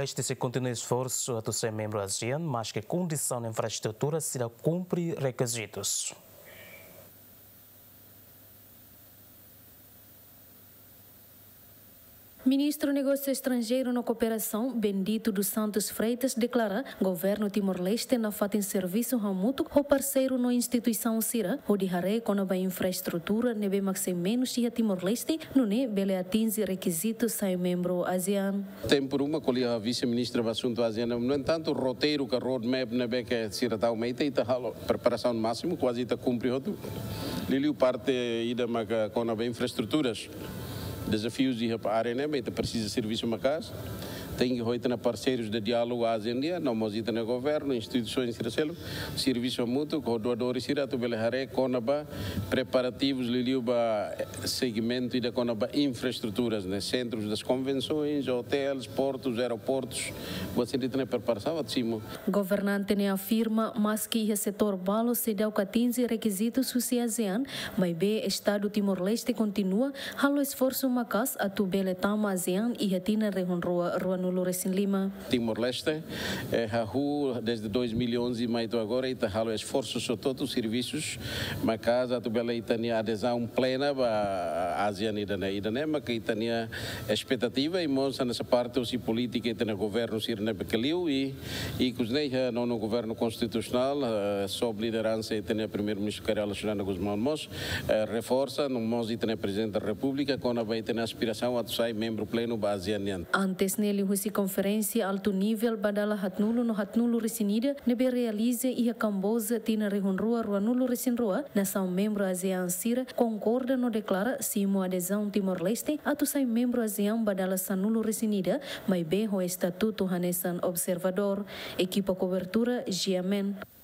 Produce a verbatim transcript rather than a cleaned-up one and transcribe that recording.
Timor-Leste sei kontinua esforsu atu sai membru ASEAN, maske kondisaun infraestrutura sira la kumpre rekizitus. Ministru Negósiu Estranjeiru no Kooperasaun, Bendito dos Santos Freitas, deklara governu Timor-Leste nafatin servisu hamutuk ho parseiru no instituisaun sira hodi haree kona-ba infraestrutura ne'ebé mak sei menus iha Timor-Leste, nune'e bele atinje rekizitu sai membru ASEAN. Tempu ruma ko'alia ho vise-ministra ba asuntu ASEAN, no entantu, roteiru ka roadmap ne'ebé ke sira tau mai ita, ita halo preparasaun másimu, kuaze ita kumpre hotu. Liuliu parte ida maka kona-ba infraestruturas. Dezafius iha área ne'e, ita presiza servisu maka'as. Tenke ho ita-nia parseirus de diálogu ASEAN nian, no mós ita-nia governu, instituisoens sira seluk, servisu hamutuk ho doadores sira atu bele haree kona-ba preparativus liuliu ba segmentu ida kona-ba infraestruturas, ne'e, centros das convenções, hotéis, portos, aeroportos. Buat sira ita-nia preparasaun atu simu. Governante ne'e afirma, maske iha setór balu seidauk atinje rekizitus husi ASEAN, maibé Estadu Timor-Leste kontinua halo esforsu maka'as atu bele tama ASEAN iha tinan rihun rua ruanulu-resin-lima. Timor-Leste, eh, hahú desde dois mil e onze mai to'o agora, ita halo esforsus hotu-hotu, servisus maka'as atu bele ita-nia adezaun plena ba ASEAN ida-ne'e. Ida-ne'e maka ita-nia espetativa i mós hanesan parte husi polítika ita-nia governu sira ne'ebé ke liu i, ikus ne'e iha nonu governu konstitusionál, eh, sob lideransa ita-nia Primeiru-Ministru Kay Rala Xanana Gusmão mós, eh, reforsa, no mós ita-nia Prezidente da Repúblika, kona-ba ita-nia aspirasaun atu sai membru plenu ba ASEAN nian. Antes ne'e, liuhusi konferénsia altu nivel ba dala haatnulu no haatnulu-resin-ida ne'ebé realiza iha Kamboja tinan rihun rua ruanulu-resin-rua, nasaun membru ASEAN sira konkorda no deklara simu adezaun Timor-Leste atu sai membru ASEAN ba dala sanulu-resin-ida, maibé ho estatutu hanesan observadór. Ekipa kobertura, GMN.